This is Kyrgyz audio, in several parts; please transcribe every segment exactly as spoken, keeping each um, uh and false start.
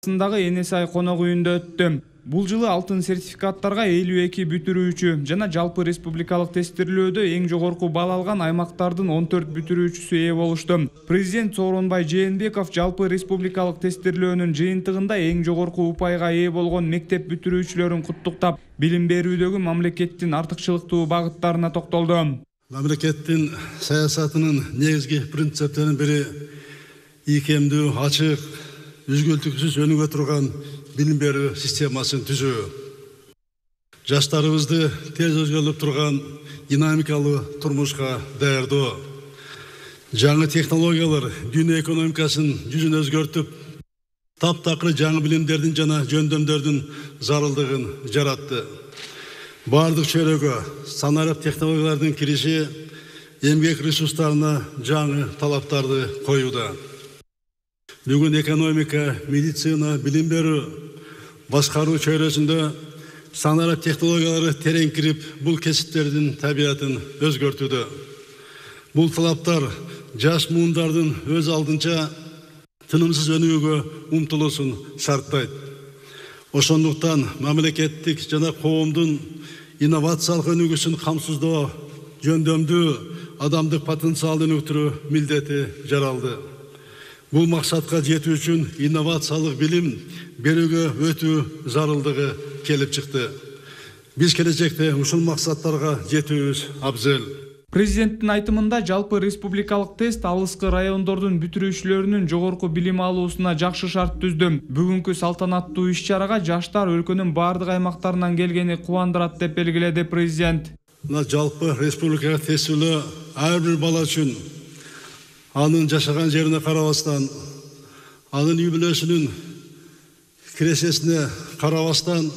сындагы Энесай конок үйүндө өттү. Бул жылы алтын сертификаттарга элүү эки бүтүрүүчү жана жалпы республикалык тестирлөөдө эң жогорку балл алган аймактардын он төрт бүтүрүүчүсү ээ болушту. Президент Сооронбай Жээнбеков жалпы республикалык тестирлөөнүн жыйынтыгында эң жогорку упайга ээ болгон мектеп бүтүрүүчүлөрүн куттуктап, билим берүүдөгү мамлекеттин артыкчылыктуу багыттарына токтолду. Мамлекеттин саясатынын негизги принциптеринин бири ийкемдүү, ачык, үзгүлтүксүз өнүгө турган билим берүү системасын түзүү. Жаштарыбызды тез өзгөрүп турган динамикалуу турмушка даярдоо. Жаңы технологиялар дүйнө экономикасын жүзүн өзгөртүп, таптакыр жаңы билимдердин жана жөндөмдөрдүн зарылдыгын жаратты. Бардык чөйрөгө санарип технологиялардын кириши эмгек ресурстарына жаңы талаптарды коюуда. Бүгүн экономика, медицина, билим берүү, башкаруу чөйрөсүндө санарип технологиялары терең кирип, бул кесиптердин табиятын өзгөртүүдө. Бул талаптар жаш муундардын өз алдынча тынымсыз өнүгүүгө умтулуусун шарттайт. Ошондуктан мамлекеттик жана коомдун инновациялык өнүгүүсүн камсыздоо, жөндөмдүү адамдык потенциалды өнүктүрүү милдети жаралды. Бул максатка жетүү үчүн инновациялык билим берүүгө өтүү зарылдыгы келип чыкты. Биз келечекте ушул максаттарга жетүүбүз абзел. Президенттин айтымында жалпы республикалык тест алыскы райондордун бүтүрүүчүлөрүнүн жогорку билим алуусуна жакшы шарт түздү. Бүгүнкү салтанаттуу иш-чарага жаштар өлкөнүн бардык аймактарынан келгени кубандырат деп белгиледи президент. Мына жалпы республикалык тестилөө ар бир бала үчүн анын жашаган жерине карабастан, анын үй бүлөсүнүн киресесине карабастан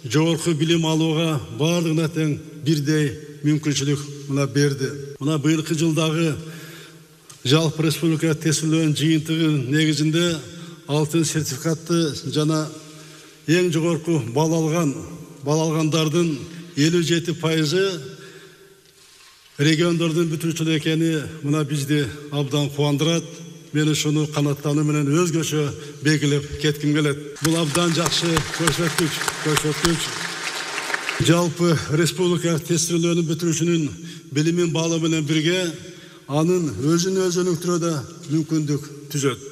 жогорку билим алууга бардыгына тең бирдей мүмкүнчүлүк мына берди. Мына быйылкы жылдагы жалпы республика тестилөөнүн жыйынтыгы негизинде алтын сертификатты жана эң жогорку балл алган балл алгандардын элүү жети пайызы региондордун бүтүрүүчүлөр экени мына бизди абдан кубандырат. Мен ушуну канаттануу менен өзгөчө белгилеп кетким келет. Бул абдан жакшы көрсөткүч, көрсөткүч. Жалпы республика тестирлөөнүн бүтүрүүчүнүн билимин баалоо менен бирге анын өзүн өзү өнүктүрүүгө мүмкүндүк түзөт.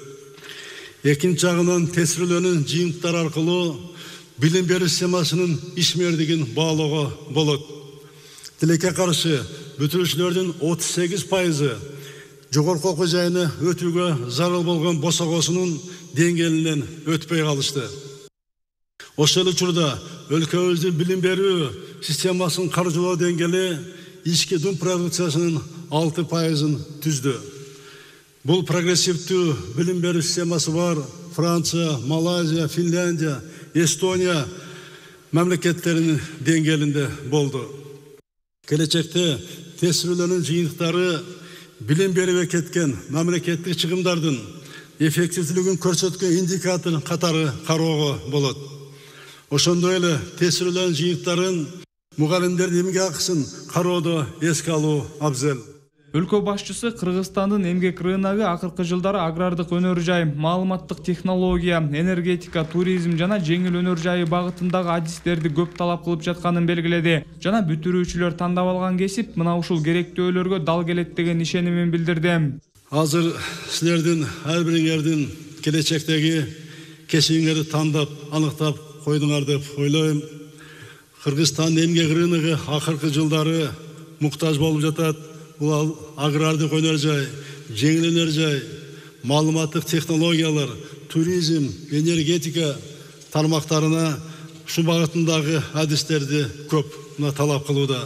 Экинчи жагынан тестирлөөнүн жыйынтыктары аркылуу билим берүү системасынын ишмердигин баалоого болот. Тилекке каршы бүтүрүүчүлөрдүн отуз сегиз пайызы жогорку окуу жайына өтүүгө зарыл болгон босогосунун деңгээлинен өтпөй калышты. Ошол учурда өлкөбүздүн билим берүү системасын каржылоо деңгээли ички дум продукциясынын алты пайызын түздү. Бул прогрессивдүү билим берүү системасы бар Франция, Малайзия, Финляндия, Эстония мамлекеттеринин деңгээлинде болду. Келечекте тестирлөөнүн жыйынтыктары билим берүүгө кеткен мамлекеттик чыгымдардын эффективдүүлүгүн көрсөткөн индикатор катары кароого болот. Ошондой эле тестирлөөнүн жыйынтыктарын мугалимдердин эмгек акысын кароодо эске алуу абзел. Өлкө башчысы Кыргызстандын эмгек рыногу акыркы жылдары агрардык өнөр жай, маалыматтык технология, энергетика, туризм жана жеңил өнөр жайы багытындагы адистерди көп талап кылып жатканын белгиледи. Жана бүтүрүүчүлөр тандап алган кесип мына ушул керектөөлөргө дал келет деген ишенимин билдирди. Азыр силердин ар бириңердин келечектеги кесибиңерди тандап, аныктап койдуңар деп ойлойм. Кыргызстандын эмгек рыногу акыркы жылдары муктаж болуп жатат. Бул агрардык өнөр жай, жеңил өнөр жай, маалыматтык технологиялар, туризм, энергетика тармактарына ушу багытындагы адистерди көп талап кылууда.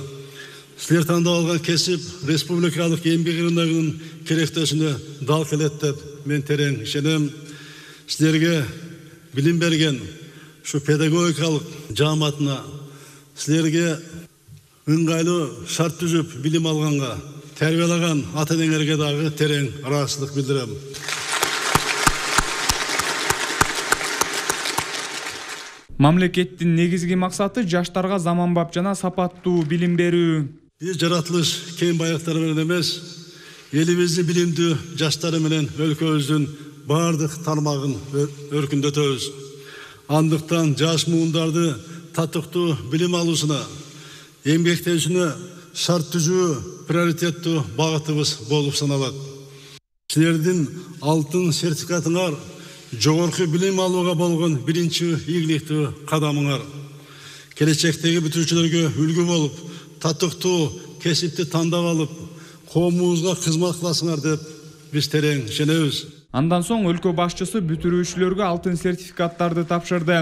Силер тандап алган кесип республикалык эмгек рыногунун керектөөсүнө дал келет деп мен терең ишенем. Силерге билим берген ушу педагогикалык жааматына, силерге ыңгайлуу шарт түзүп билим алганга, тербиялаган ата-энеңерге дагы терең ыраазычылык билдирем. Мамлекеттин негизги максаты жаштарга заманбап жана сапаттуу билим берүү. Биз жаратылыш кең байыктар менен эмес, элибиздин билимдүү жаштары менен өлкөбүздүн бардык тармагын өркүндөтөбүз. Андыктан жаш муундарды татыктуу билим алуусуна, эмгектенүүсүнө шарт түзүү приоритеттүү багытыбыз болуп саналат. Силердин алтын сертификатыңар жогорку билим алууга болгон биринчи ийгиликтүү кадамыңар. Келечектеги бүтүүчүлөргө үлгү болуп, татыктуу кесипти тандап алып, коомубузга кызмат кыласыңар деп биз терең ишенебиз. Андан соң өлкө башчысы бүтүрүүчүлөргө алтын сертификаттарды тапшырды.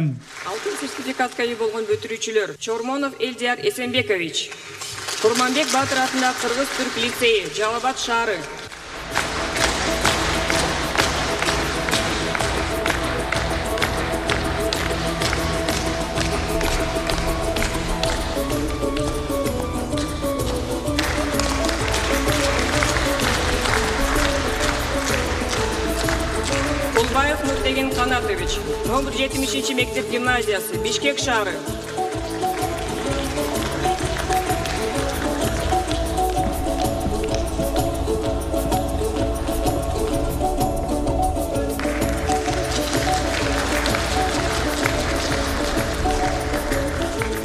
Алтын сертификатка ээ болгон бүтүрүүчүлөр: Чормонов Элдияр Эсенбекович, Курманбек Батыр атындагы Кыргыз-Түрк лицейи, Жалал Абад шаары. Кулбаев Нуртеген Канатович, номер жетимишинчи мектеп гимназиясы, Бишкек шаары.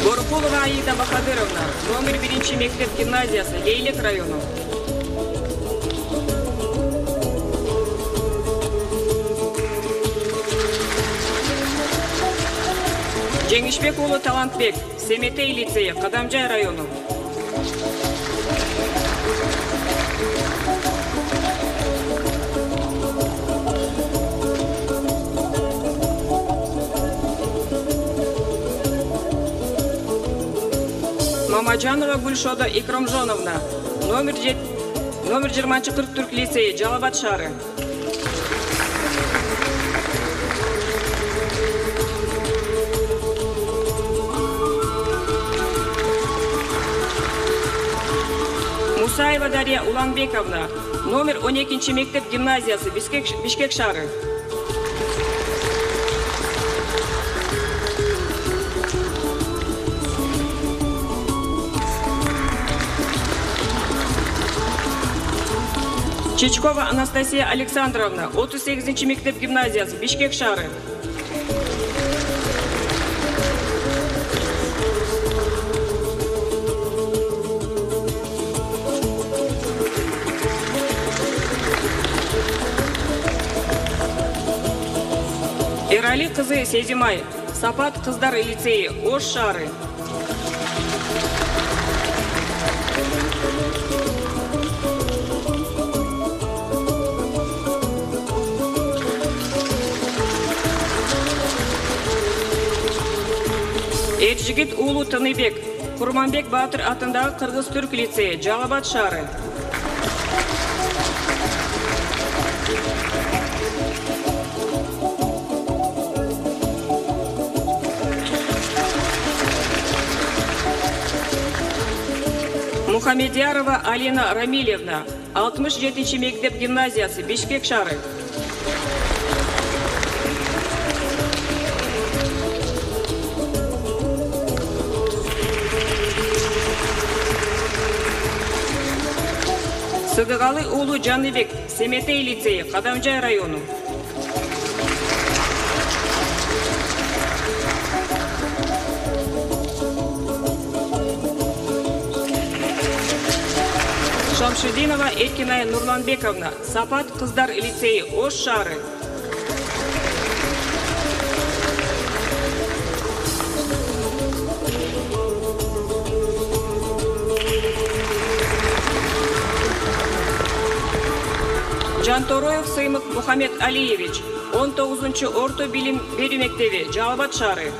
Горкулова Аида Бахадыровна, номер биринчи мектеп гимназиясы, Лейлек району. Жеңишбек уулу Талантбек, Семетей лицейи, Кадамжай району. Мамаджанова Гульшода Икромжоновна, номер жыйырманчы Кырк-Түрк лицейи, Жалал Абад шаары. Мусаева Дарья Уланбековна, номер он экинчи мектеп гимназиясы, Бишкек, Бишкек шаары. Чичкова Анастасия Александровна, отуз сегизинчи мектеп гимназиясы, Бишкек шаары. Эрали кызы Сезимай, Сапат кыздар лицейи, Ош шаары. Эржигит уулу Тыныбек, Курманбек Батыр атындагы Кыргыз-Түрк лицейи, Жалал Абад шаары. Мухамедярова Алина Рамилевна, алтымыш жетинчи мектеп гимназиясы, Бишкек шаары. Сыдыгалы уулу Жаныбек, Семетей лицейи, Кадамжай району. Шамшидинова Эркинай Нурланбековна, Сапат кыздар лицейи, Ош шаары. Жантороев Сыймык Мухаммед Алиевич, он тогузунчу орто билим берүү мектеби, Жалал Абад шаары.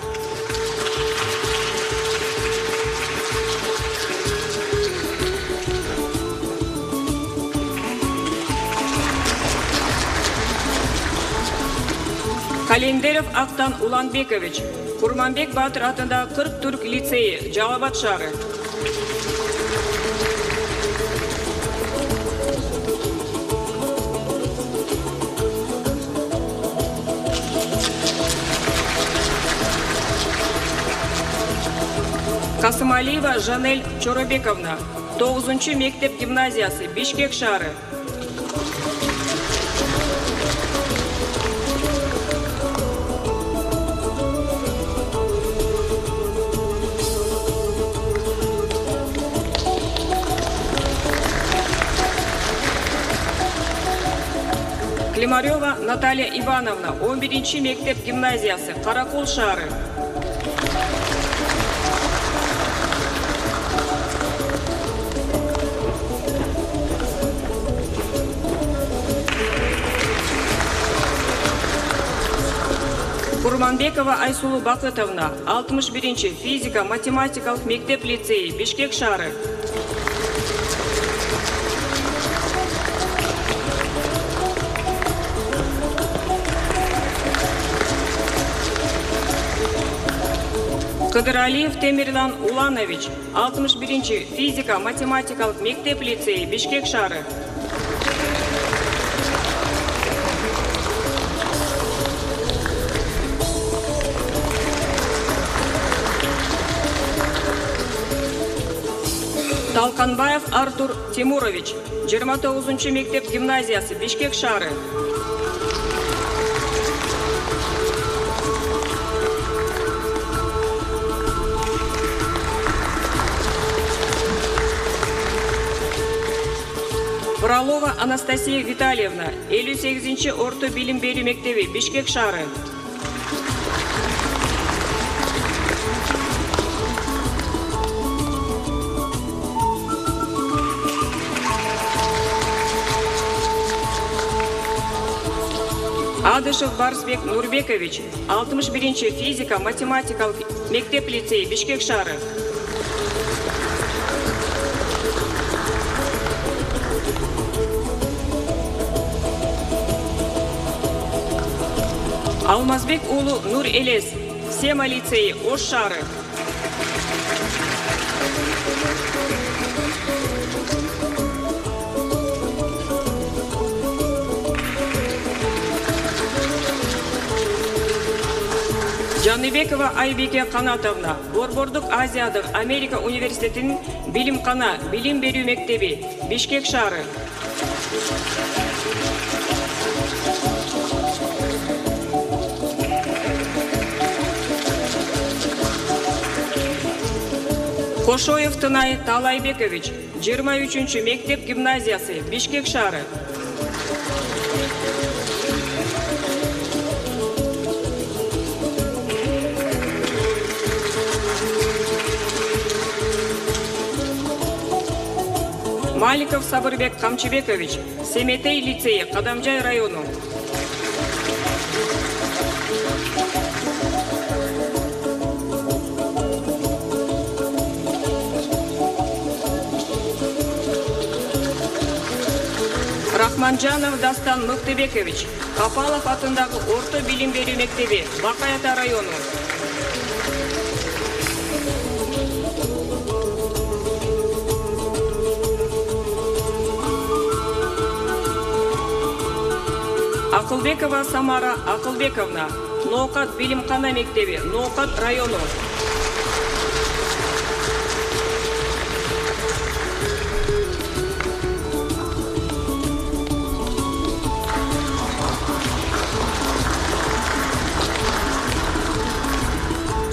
Календеров Актан Уланбекович, Курманбек Батыр атындагы Кырк-Түрк лицейи, Жалал Абад шаары. Касымалиева Жанель Чоробековна, тогузунчу мектеп гимназиясы, Бишкек шаары. Климарева Наталья Ивановна, он биринчи мектеп гимназиясы, Каракол шаары. Курманбекова Айсулу Бакытовна, алтымыш биринчи физика математикалык мектеп лицейи, Бишкек шаары. Кыдыралиев Темирлан Уланович, алтымыш биринчи физика математикалык мектеп лицейи, Бишкек шаары. Талканбаев Артур Тимурович, жыйырма тогузунчу мектеп гимназиясы, Бишкек шаары. Фролова Анастасия Витальевна, элүү сегизинчи орто билим берүү мектеби, Бишкек шаары. Адышев Барсбек Нурбекович, алтымыш биринчи физика математикалык мектеп лицейи, Бишкек шаары. Алмазбек уулу Нур Элес, Сема лицейи, Ош шаары. Жаныбекова Айбеке Канатовна, Борбордук Азиядык Америка университетинин билимкана билим берүү мектеби, Бишкек шаары. Кошоев Тынай Талайбекович, жыйырма үчүнчү мектеп гимназиясы, Бишкек шаары. Маликов Сабырбек Камчыбекович, Семетей лицейи, Кадамжай району. Рахманжанов Дастан Мыктыбекович, Капалов атындагы орто билим берүү мектеби, Бакаята району. Акылбекова Самара Акылбековна, Ноокат билимкана мектеби, Ноокат району.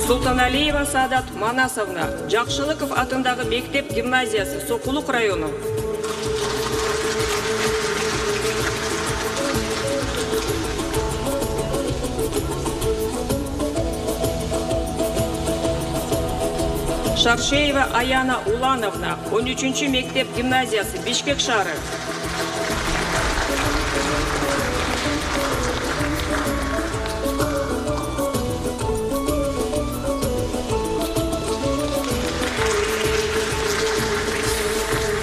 Султаналиева Саадат Манасовна, Жакшылыков атындагы мектеп гимназиясы, Сокулук району. Шаршеева Аяна Улановна, он үчүнчү мектеп гимназиясы, Бишкек шаары.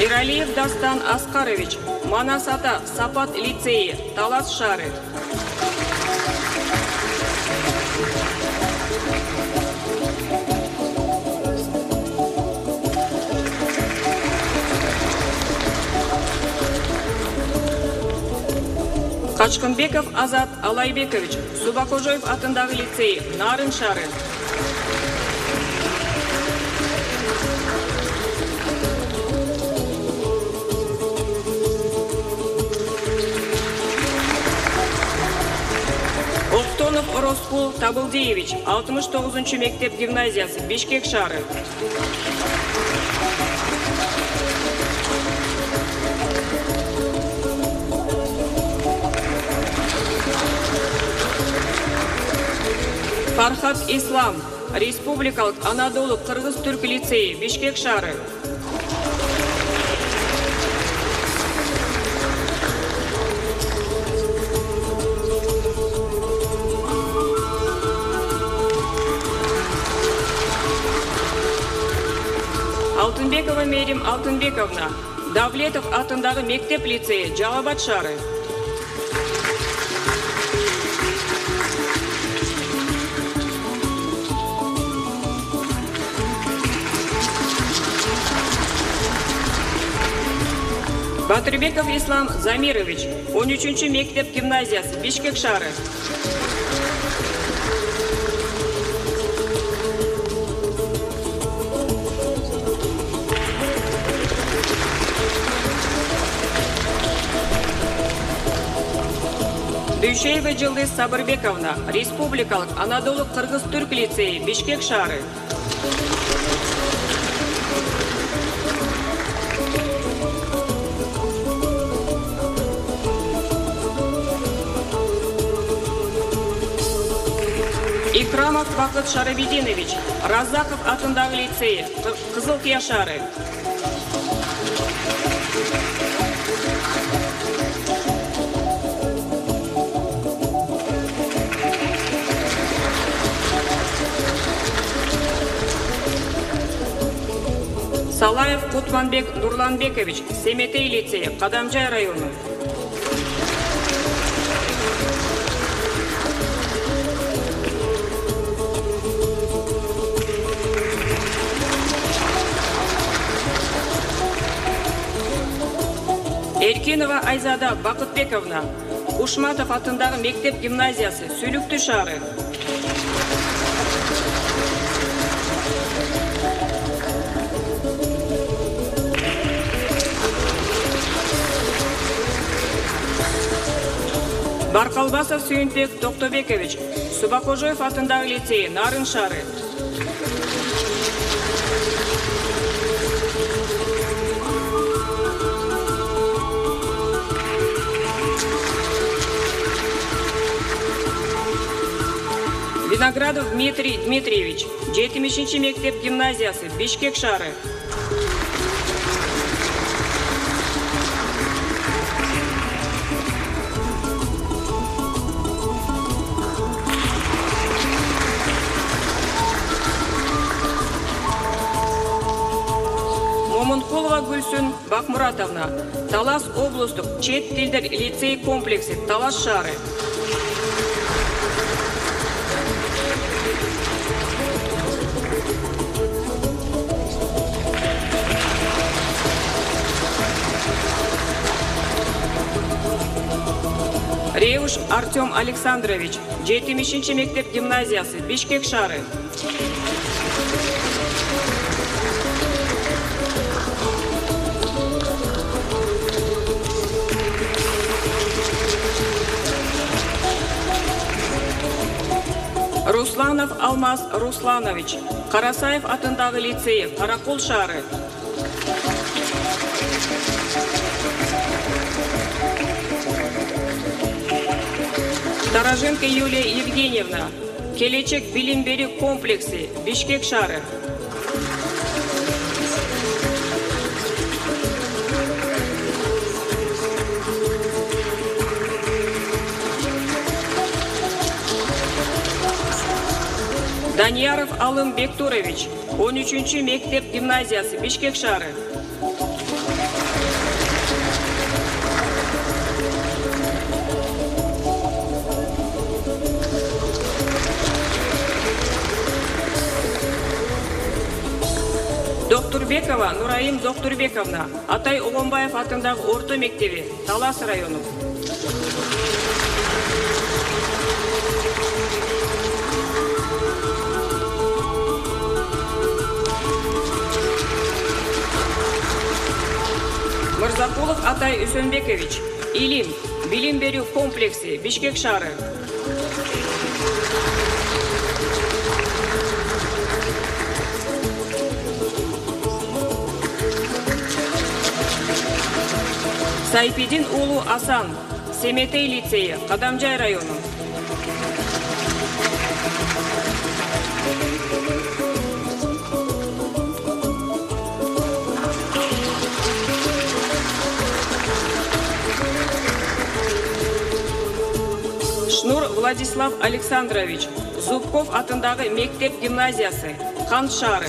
Иралиев Дастан Аскарович, Манас ата Сапат лицейи, Талас шаары. Качкынбеков Азат Алайбекович, Субакожоев атындагы лицейи, Нарын шаары. Октонов Ороскул Табылдиевич, алтымыш тогузунчу мектеп гимназиясы, Бишкек шаары. Фархат Ислам, Республикалык Анадолу кыргыз-түрк лицейи, Бишкек шаары. Алтынбекова Мерим Алтынбековна, Давлетов атындагы мектеп лицейи, Жалал Абад шаары. Батырбеков Ислам Замирович, он үчүнчү мектеп гимназиясы, Бишкек шаары. Дүйшеева Жылдыз Сабырбековна, Республикалык Анадолу кыргыз-түрк лицейи, Бишкек шаары. Икрамов Бакыт Шарабидинович, Разаков атындагы лицейи, Кызылкия шаары. Салаев Кутманбек Нурланбекович, Семетей лицейи, Кадамжай району. Эркинова Айзада Бакытбековна, Ушматов атындагы мектеп гимназиясы, Сүлүктүү шаары. Баркалбасов Сүйүнбек Токтобекович, Субакожоев атындагы лицейи, Нарын шаары. Виноградов Дмитрий Дмитриевич, жетимишинчи мектеп гимназиясы, Бишкек шаары. Момункулова Гүлсүн Бакмуратовна, Талас облустук чет тилдер лицей комплекси, Талас шаары. Реуш Артем Александрович, жетимишинчи мектеп гимназиясы, Бишкек шаары. Русланов Алмаз Русланович, Карасаев атындагы лицейи, Каракол шаары. Тароженко Юлия Евгеньевна, Келечек билим берүү комплекси, Бишкек шаары. Данияров Алым Бектурович, он үчүнчү мектеп гимназиясы, Бишкек шаары. Доктурбекова Нураим Доктурбековна, Атай Огонбаев атындагы орто мектеби, Талас району. Мырзакулов Атай Үсөнбекович, Илим, билим берүү комплекси, Бишкек шаары. Сайпидин уулу Асан, Семетей лицейи, Кадамжай району. Владислав Александрович, Зубков атындагы мектеп гимназиясы, Кант шаары.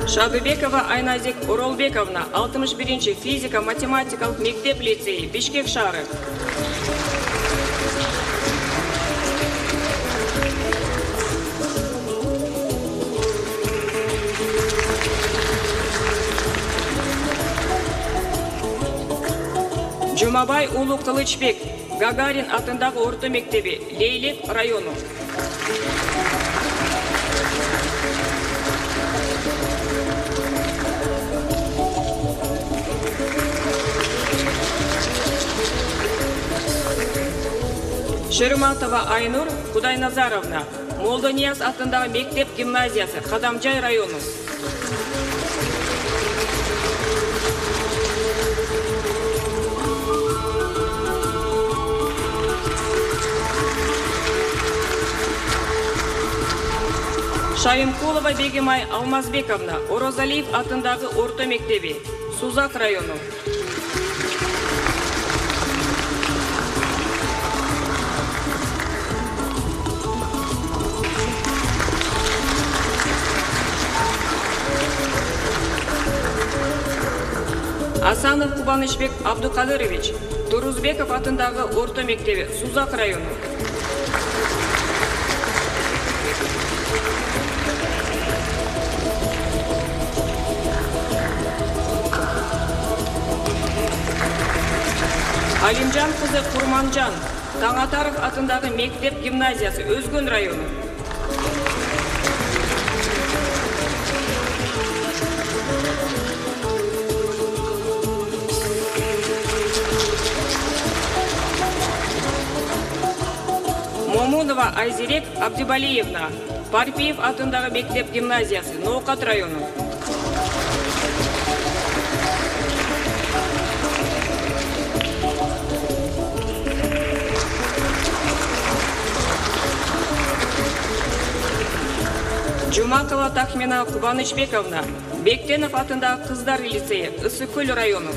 Шабыбекова Айназик Оролбековна, алтымыш биринчи физика-математикалык мектеп лицейи, Бишкек шаары. Жумабай уулу Кылычбек, Гагарин атындагы орто мектеби, Лейлек району. Шерматова Айнур Кудайназаровна, Молдонияз атындагы мектеп гимназиясы, Кадамжай району. Шайымкулова Бегимай Алмазбековна, Орозалиев атындагы орто мектеби, Сузак району. Асанов Кубанычбек Абдукадырович, Турузбеков атындагы орто мектеби, Сузак району. Алимжан кызы Курманжан, Таңатаров атындагы мектеп гимназиясы, Өзгөн району. Момунова Айзирек Абдибалиевна, Парпиев атындагы мектеп гимназиясы, Ноокат району. Жумакова Тахмина Кубанычбековна, Бектенов атындагы кыздар лицейи, Ысыкөл району.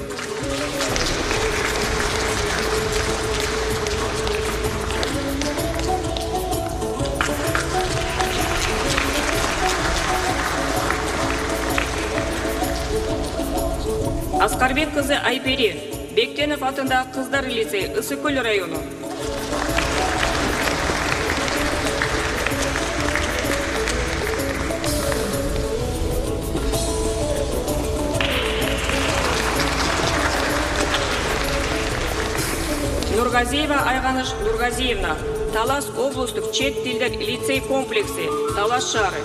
Аскарбек кызы Айпери, Бектенов атындагы кыздар лицейи, Ысыкөл району. Нургазиева Айганыш Нургазиевна, Талас облустук чет тилдер лицей комплекси, Талас шаары.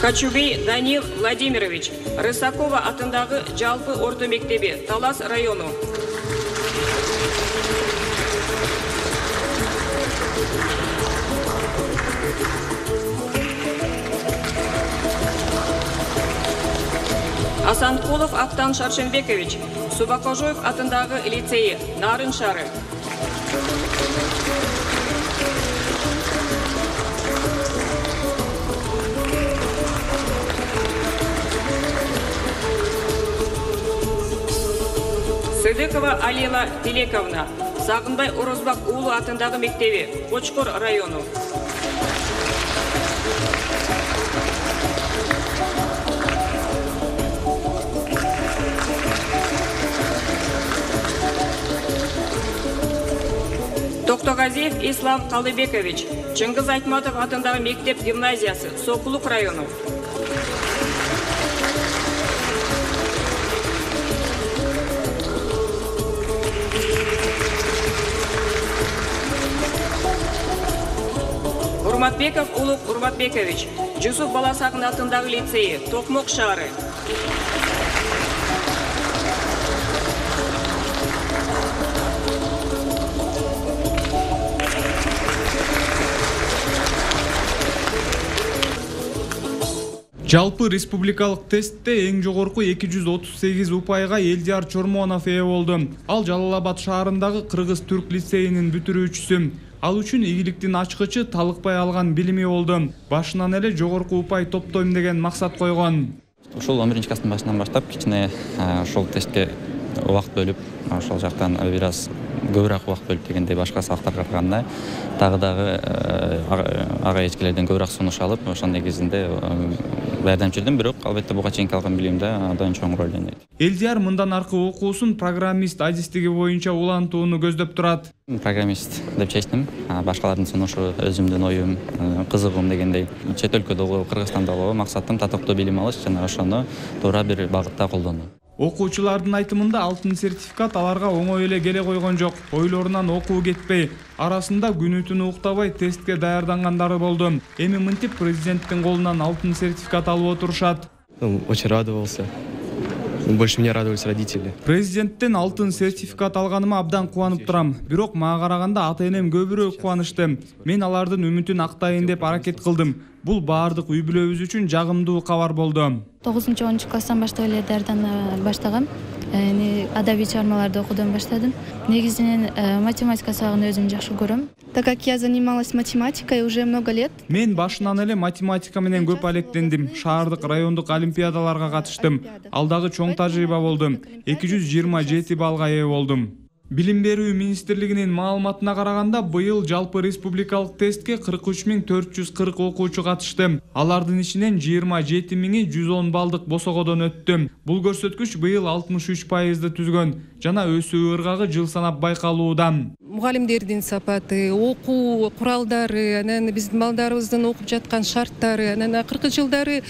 Качубей Данил Владимирович, Рысакова атындагы жалпы орто мектеби, Талас району. Асанкулов Актан Шаршенбекович, Субакожоев атындагы лицейи, Нарын шаары. Сыдыкова Алила Телековна, Сагынбай Орозбак уулу атындагы мектеби, Кочкор району. Токтогазиев Ислам Калыбекович, Чыңгыз Айтматов атындагы мектеп гимназиясы, Сокулук району. Урматбеков Улук Урматбекович, Жусуп Баласакын атындагы лицейи, Токмок шаары. Жалпы республикалык тестте эң жогорку эки жүз отуз сегиз упайга Элдияр Чормонов ээ болду. Ал Жалал Абад шаарындагы кыргыз-түрк лицейинин бүтүрүүчүсү. Ал үчүн ийгиликтин ачкычы талыкпай алган билими болду. Башынан эле жогорку упай топтойм деген максат койгон. Ушул он биринчи класстын башынан баштап кичине ошол тестке убакыт бөлүп, ошол жактан бир аз көбүрөөк убакыт бөлүп дегендей башка сабактарга караганда дагы дагы ага эчкилерден көбүрөөк сунуш алып, ошол негизинде баардам жүрдүм, бирок албетте буга чейинки алган билимде абдан чоң роль ойнойт. Элдияр мындан аркы окуусун программист адистиги боюнча улантууну көздөп турат. Программист деп чечтим. Башкалардын сунушу, өзүмдүн оюм, кызыгуум дегендей чет өлкөдө болобу, Кыргызстанда болобу максатым татыктуу билим алыш жана ошону туура бир багытта колдонуу. Окуучулардын айтымында алтын сертификат аларга оңой эле келе койгон жок. Ойлорунан окуу кетпей, арасында күнү-түнү уктабай тестке даярдангандары болду. Эми мынтип президенттин колунан алтын сертификат алып отурушат. Очень радовался. Больше меня радовались родители. Президенттен алтын сертификат алганыма абдан кубанып турам. Бирок мага караганда ата-энем көбүрөөк кубанычты. Мен алардын үмүтүн актайын деп аракет кылдым. Бул баардык үй бүлөбүз үчүн жагымдуу кабар болду. тогузунчу онунчу класстан баштап эле даярдана баштагам. Адабий чыгармаларды окуудан баштадым. Негизинен математика сабагын өзүм жакшы көрөм. Так как я занималась математикой уже много лет. Мен башынан эле математика менен көп алектендим. Шаардык, райондук олимпиадаларга катыштым. Ал дагы чоң тажрыйба болду. эки жүз жыйырма жети баллга ээ болдум. Билим берүү министрлигинин маалыматына караганда быйыл жалпы республикалык тестке кырк үч миң төрт жүз кырк окуучу катышты. Алардын ичинен жыйырма жети миңи жүз он баллдык босогодон өттү. Бул көрсөткүч быйыл алтымыш үч пайызды түзгөн жана өсүү ыргагы жыл санап байкалууда. Мугалимдердин сапаты, окуу куралдары, анан биздин балдарыбыздын окуп жаткан шарттары, анан акыркы жылдары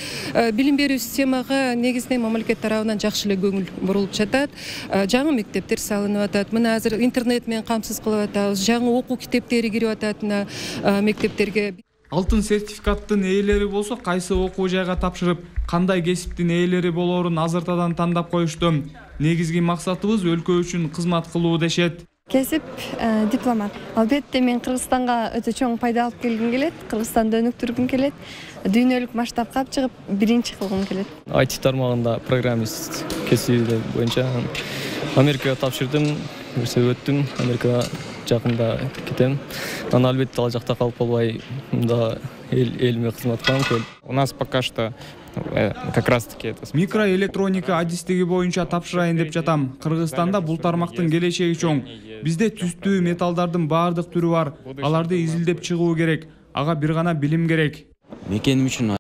билим берүү системага негизинен мамлекет тарабынан жакшы эле көңүл бурулуп жатат. Жаңы мектептер салынып атат. Мына азыр интернет менен камсыз кылып атабыз. Жаңы окуу китептери кирип атат мына мектептерге. Алтын сертификаттын ээлери болсо кайсы окуу жайга тапшырып, кандай кесиптин ээлери болоорун азыртадан тандап коюшту. Негизги максатыбыз өлкө үчүн кызмат кылуу дешет. Кесип дипломат. Албетте мен Кыргызстанга өтө чоң пайда алып келгим келет. Кыргызстанды өнүктүргүм келет. Дүйнөлүк масштабка чыгып биринчи кылгым келет. ай ти тармагында программист кесиби боюнча Америкага тапшырдым, өттүм. Америкага жакында кетем. Анан албетте ал жакта калып калбай, мында элиме кызмат кылам. У нас пока что как раз таки это микроэлектроника адистиги боюнча тапшырайын деп жатам. Кыргызстанда бул тармактын келечеги чоң. Бизде түстүү металлдардын баардык түрү бар. Аларды изилдеп чыгуу керек. Ага бир гана билим керек. Мекеним үчүн